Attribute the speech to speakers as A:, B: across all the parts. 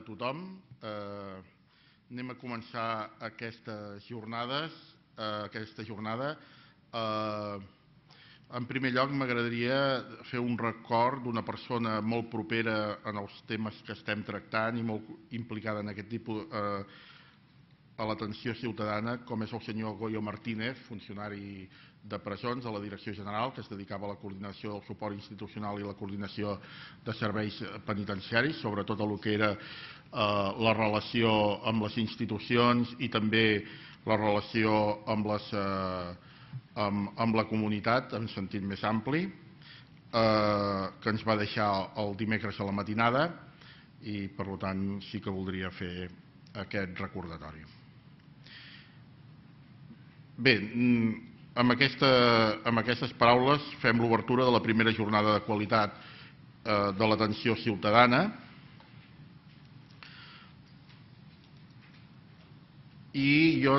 A: tothom. Anem a començar aquesta jornada. En primer lloc, m'agradaria fer un record d'una persona molt propera en els temes que estem tractant i molt implicada en aquest tipus a l'atenció ciutadana, com és el senyor Goyo Martínez, funcionari de presons de la Direcció General, que es dedicava a la coordinació del suport institucional i la coordinació de serveis penitenciaris, sobretot el que era la relació amb les institucions i també la relació amb la comunitat en sentit més ampli, que ens va deixar el dimecres a la matinada i, per tant, sí que voldria fer aquest recordatori. Bé, amb aquestes paraules fem l'obertura de la primera jornada de qualitat de l'atenció ciutadana i jo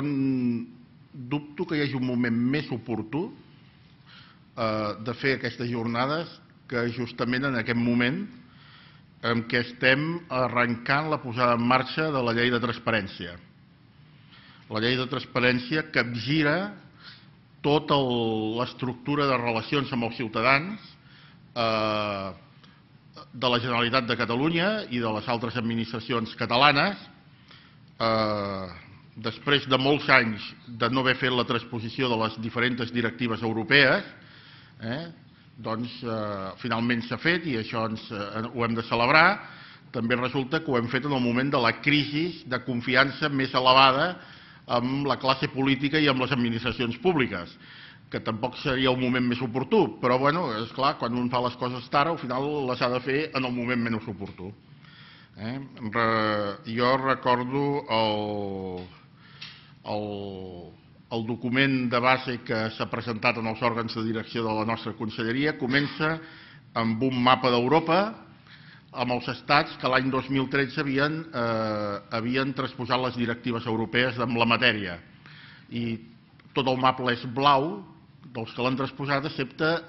A: dubto que hi hagi un moment més oportú de fer aquestes jornades que justament en aquest moment en què estem arrencant la posada en marxa de la llei de transparència. La llei de transparència capgira tota l'estructura de relacions amb els ciutadans de la Generalitat de Catalunya i de les altres administracions catalanes. Després de molts anys de no haver fet la transposició de les diferents directives europees, doncs finalment s'ha fet i això ho hem de celebrar. També resulta que ho hem fet en el moment de la crisi de confiança més elevada amb la classe política i amb les administracions públiques, que tampoc seria el moment més oportú, però, bueno, és clar, quan un fa les coses tard, al final les ha de fer en el moment menys oportú. Jo recordo el document de base que s'ha presentat en els òrgans de direcció de la nostra conselleria. Comença amb un mapa d'Europa amb els estats que l'any 2013 havien transposat les directives europees en la matèria. I tot el mapa és blau dels que l'han transposat, excepte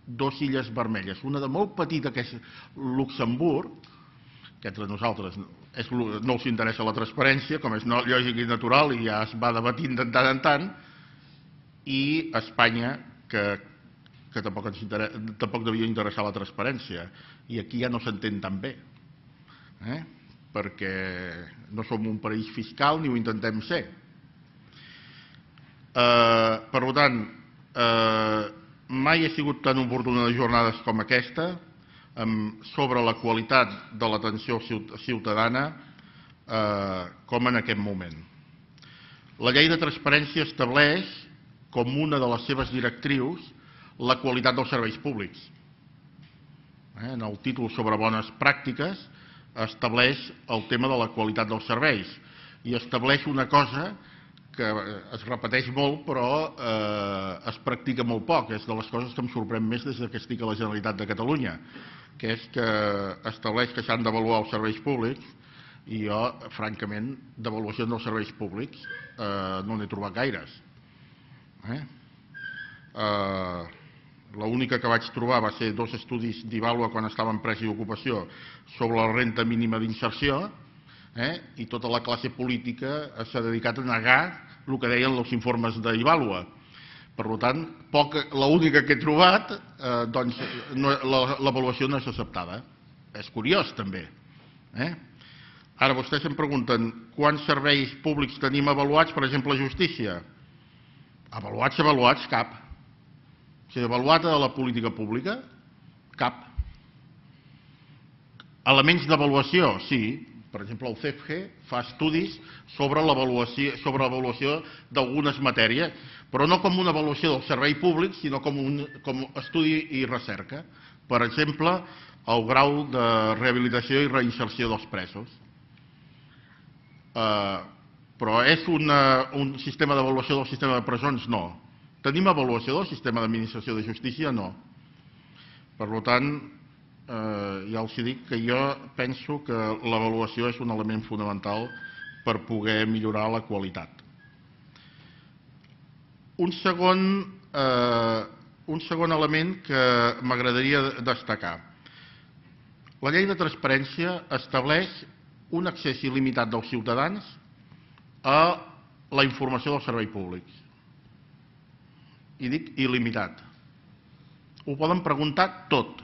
A: dues illes vermelles. Una de molt petita, que és Luxemburg, que entre nosaltres no els interessa la transparència, com és lògic i natural, i ja es va debatint de tant en tant, i Espanya, que tampoc devia interessar la transparència. I aquí ja no s'entén tan bé, perquè no som un paradís fiscal ni ho intentem ser. Per tant, mai ha sigut tan oportuna de jornades com aquesta sobre la qualitat de l'atenció ciutadana com en aquest moment. La llei de transparència estableix com una de les seves directrius la qualitat dels serveis públics. En el títol sobre bones pràctiques estableix el tema de la qualitat dels serveis i estableix una cosa que es repeteix molt però es practica molt poc. És de les coses que em sorprèn més des que estic a la Generalitat de Catalunya, que és que estableix que s'han d'avaluar els serveis públics i jo, francament, d'avaluacions dels serveis públics no n'he trobat gaires. L'única que vaig trobar va ser dos estudis d'Ivàlua quan estava en Empresa i Ocupació sobre la renda mínima d'inserció i tota la classe política s'ha dedicat a negar el que deien els informes d'Ivàlua. Per tant, l'única que he trobat, doncs l'avaluació no és acceptada. És curiós, també. Ara, vostès em pregunten quants serveis públics tenim avaluats, per exemple, a justícia. Avaluats, cap. Si avaluat a la política pública, cap. Elements d'avaluació, sí. Per exemple, el CEFGE fa estudis sobre l'avaluació d'algunes matèries, però no com una avaluació del servei públic, sinó com estudi i recerca. Per exemple, el grau de rehabilitació i reinserció dels presos. Però és un sistema d'avaluació del sistema de presons? No. Tenim avaluació del sistema d'administració de justícia? No. Per tant, ja els dic que jo penso que l'avaluació és un element fonamental per poder millorar la qualitat. Un segon element que m'agradaria destacar. La llei de transparència estableix un accés il·limitat dels ciutadans a la informació dels serveis públics. I dic il·limitat. Ho poden preguntar tot.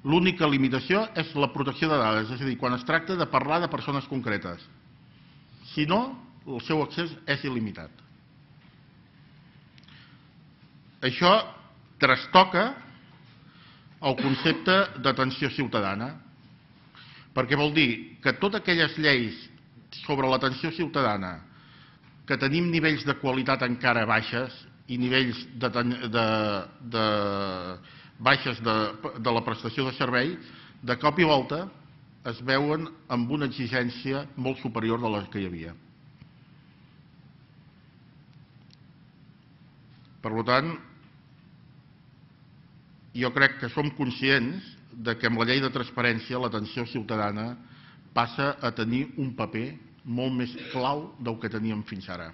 A: L'única limitació és la protecció de dades, és a dir, quan es tracta de parlar de persones concretes. Si no, el seu accés és il·limitat. Això trastoca el concepte d'atenció ciutadana, perquè vol dir que totes aquelles lleis sobre l'atenció ciutadana que tenim nivells de qualitat encara baixes i nivells baixes de la prestació de servei, de cop i volta es veuen amb una exigència molt superior de la que hi havia. Per tant, jo crec que som conscients que amb la llei de transparència l'atenció ciutadana passa a tenir un paper molt més clau del que teníem fins ara.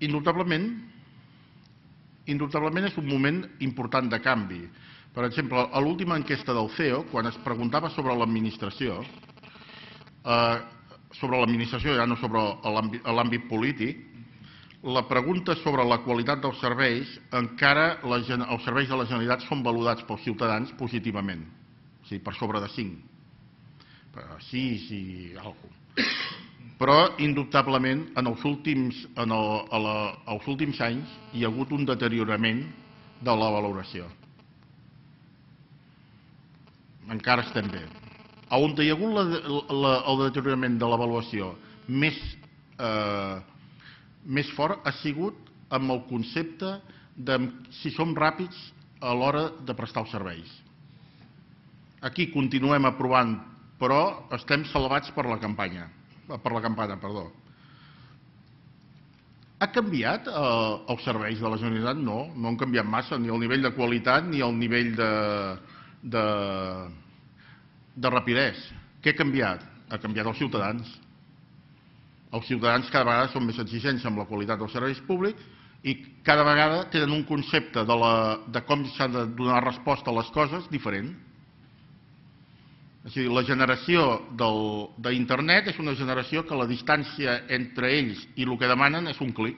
A: Indubtablement és un moment important de canvi. Per exemple, a l'última enquesta del CEO, quan es preguntava sobre l'administració, ja no sobre l'àmbit polític, la pregunta sobre la qualitat dels serveis, encara els serveis de la Generalitat són valorats pels ciutadans positivament, o sigui, per sobre de 5. 6 i alguna cosa. Però, indubtablement, en els últims anys hi ha hagut un deteriorament de la valoració. Encara estem bé. On hi ha hagut el deteriorament de l'avaluació més fort ha sigut amb el concepte de si som ràpids a l'hora de prestar els serveis. Aquí continuem aprovant, però estem salvats per la campana. Ha canviat els serveis de la Generalitat? No, no han canviat massa, ni el nivell de qualitat ni el nivell de rapidesa. Què ha canviat? Ha canviat els ciutadans. Els ciutadans cada vegada són més exigents amb la qualitat dels serveis públics i cada vegada tenen un concepte de com s'ha de donar resposta a les coses diferent. És a dir, la generació d'internet és una generació que la distància entre ells i el que demanen és un clic.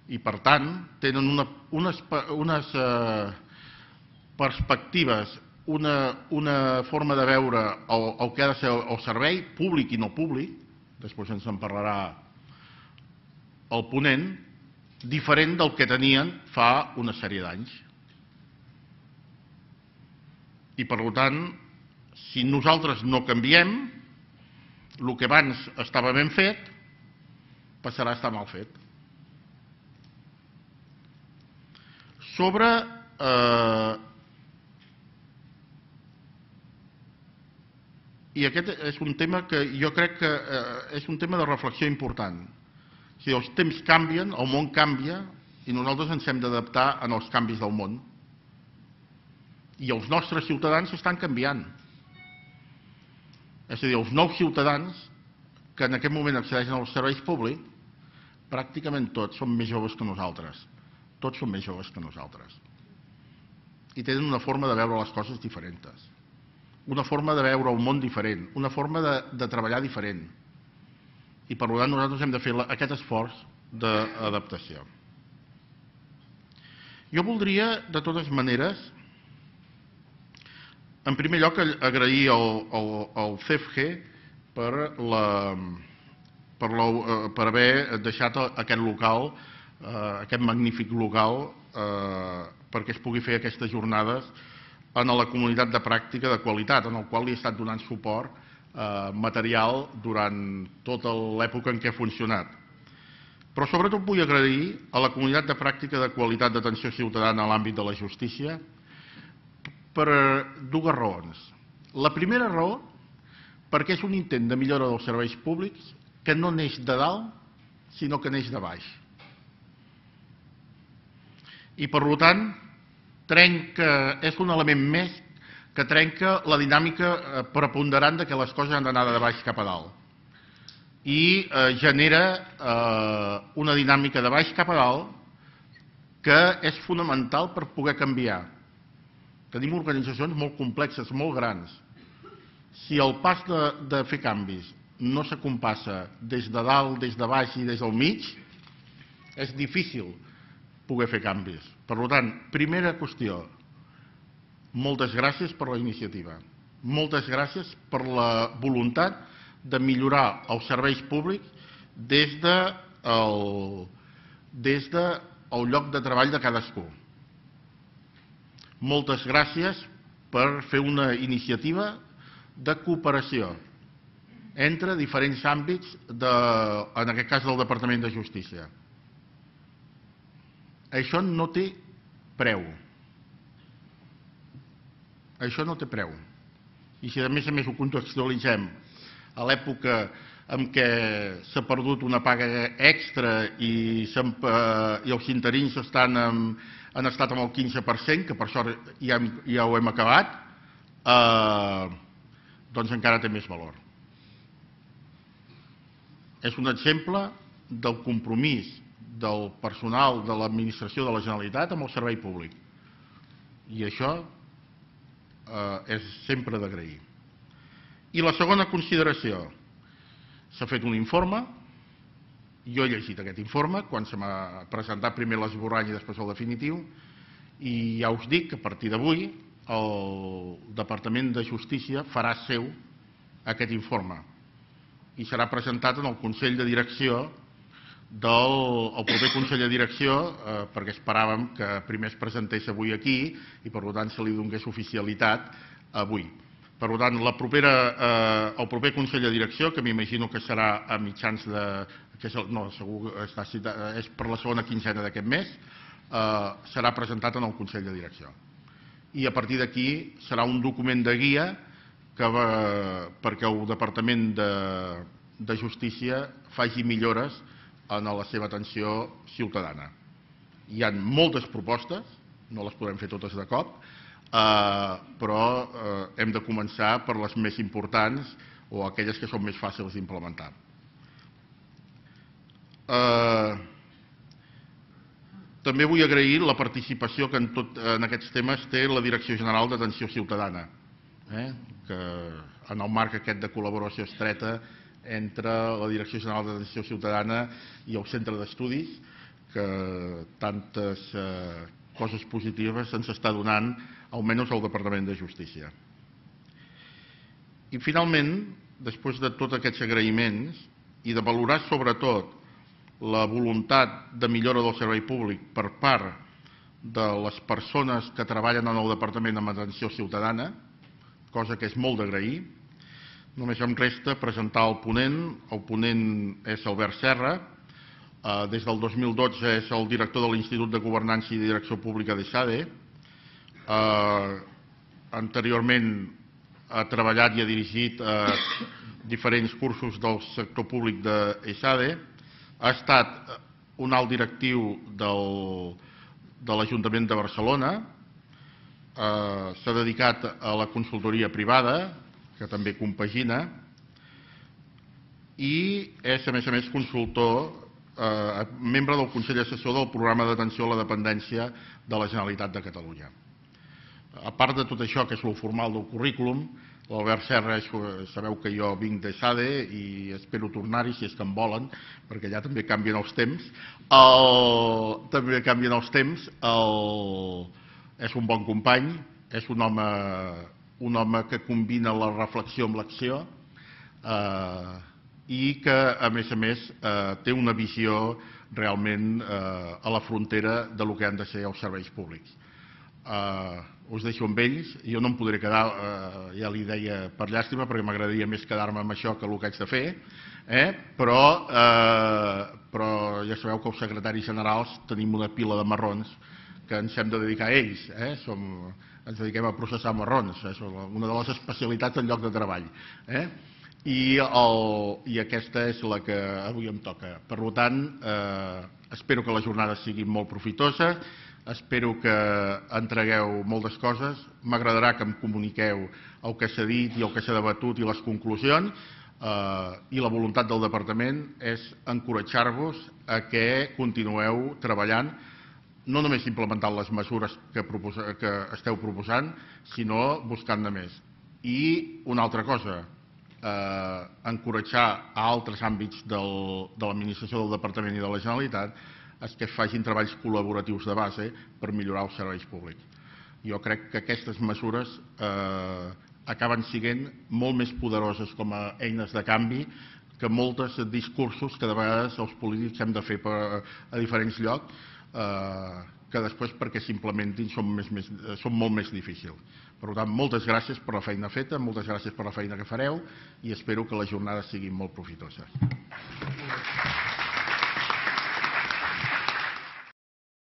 A: I, per tant, tenen unes perspectives, una forma de veure el que ha de ser el servei, públic i no públic, després ens en parlarà el ponent, diferent del que tenien fa una sèrie d'anys. I, per tant, si nosaltres no canviem, el que abans estava ben fet passarà a estar mal fet. Sobre i aquest és un tema que jo crec que és un tema de reflexió important. Si els temps canvien, el món canvia i nosaltres ens hem d'adaptar als canvis del món. I els nostres ciutadans estan canviant. És a dir, els nous ciutadans que en aquest moment accedeixen als serveis públics, pràcticament tots són més joves que nosaltres. Tots són més joves que nosaltres. I tenen una forma de veure les coses diferents. Una forma de veure el món diferent. Una forma de treballar diferent. I per tant nosaltres hem de fer aquest esforç d'adaptació. Jo voldria, de totes maneres, en primer lloc, agrair al CEFG per haver deixat aquest local, aquest magnífic local, perquè es pugui fer aquestes jornades en la comunitat de pràctica de qualitat, en el qual li he estat donant suport material durant tota l'època en què ha funcionat. Però sobretot vull agrair a la comunitat de pràctica de qualitat d'atenció ciutadana a l'àmbit de la justícia per dues raons. La primera raó, perquè és un intent de millora dels serveis públics que no neix de dalt, sinó que neix de baix. I, per tant, és un element més que trenca la dinàmica preponderant de que les coses han d'anar de baix cap a dalt. i genera una dinàmica de baix cap a dalt que és fonamental per poder canviar. Tenim organitzacions molt complexes, molt grans. Si el pas de fer canvis no s'acompassa des de dalt, des de baix i des del mig, és difícil poder fer canvis. Per tant, primera qüestió, moltes gràcies per la iniciativa. Moltes gràcies per la voluntat de millorar els serveis públics des del lloc de treball de cadascú. Moltes gràcies per fer una iniciativa de cooperació entre diferents àmbits, en aquest cas del Departament de Justícia. Això no té preu. Això no té preu. I si a més ho contextualitzem a l'època en què s'ha perdut una paga extra i els interins han estat amb el 15%, que per sort ja ho hem acabat, doncs encara té més valor. És un exemple del compromís del personal de l'administració de la Generalitat amb el servei públic. I això és sempre d'agrair. I la segona consideració. S'ha fet un informe, jo he llegit aquest informe, quan se m'ha presentat primer l'esborrany i després el definitiu, i ja us dic que a partir d'avui el Departament de Justícia farà seu aquest informe i serà presentat en el Consell de Direcció el proper Consell de Direcció, perquè esperàvem que primer es presentés avui aquí i per tant se li donés oficialitat avui. Per tant, el proper Consell de Direcció, que m'imagino que serà a mitjans de... no, segur que està citat, és per la segona quinzena d'aquest mes, serà presentat en el Consell de Direcció. I a partir d'aquí serà un document de guia perquè el Departament de Justícia faci millores en la seva atenció ciutadana. Hi ha moltes propostes, no les podem fer totes de cop, però hem de començar per les més importants o aquelles que són més fàcils d'implementar. També vull agrair la participació que en aquests temes té la Direcció General d'Atenció Ciutadana, que en el marc aquest de col·laboració estreta entre la Direcció General d'Atenció Ciutadana i el Centre d'Estudis, que tantes coses positives se'ns està donant, almenys al Departament de Justícia. I finalment, després de tots aquests agraïments i de valorar sobretot la voluntat de millora del servei públic per part de les persones que treballen en el Departament amb Atenció Ciutadana, cosa que és molt d'agrair, només em resta presentar el ponent. El ponent és Albert Serra. Des del 2012 és el director de l'Institut de Governança i Direcció Pública d'ESADE. Anteriorment ha treballat i ha dirigit diferents cursos del sector públic d'ESADE. Ha estat un alt directiu de l'Ajuntament de Barcelona. S'ha dedicat a la consultoria privada, que també compagina, i és, a més, consultor, membre del Consell Assessor del Programa d'Atenció a la Dependència de la Generalitat de Catalunya. A part de tot això, que és el formal del currículum, l'Albert Serra, sabeu que jo vinc d'ESADE i espero tornar-hi si és que em volen, perquè allà també canvien els temps. És un bon company, és un home que combina la reflexió amb l'acció i que, a més, té una visió realment a la frontera del que han de ser els serveis públics. Us deixo amb ells. Jo no em podré quedar, ja li deia, per llàstima, perquè m'agradaria més quedar-me amb això que el que haig de fer, però ja sabeu que els secretaris generals tenim una pila de marrons que ens hem de dedicar a ells. Ens dediquem a processar marrons, és una de les especialitats del lloc de treball. I aquesta és la que avui em toca. Per tant, espero que la jornada sigui molt profitosa, espero que entregueu moltes coses, m'agradarà que em comuniqueu el que s'ha dit i el que s'ha debatut i les conclusions. I la voluntat del Departament és encoratjar-vos a que continueu treballant, no només implementant les mesures que esteu proposant, sinó buscant-ne més. I una altra cosa, encoratjar a altres àmbits de l'administració del Departament i de la Generalitat és que facin treballs col·laboratius de base per millorar els serveis públics. Jo crec que aquestes mesures acaben sent molt més poderoses com a eines de canvi que molts discursos que de vegades els polítics hem de fer a diferents llocs que després perquè s'implementin són molt més difícils. Per tant, moltes gràcies per la feina feta, moltes gràcies per la feina que fareu i espero que les jornades siguin molt profitoses.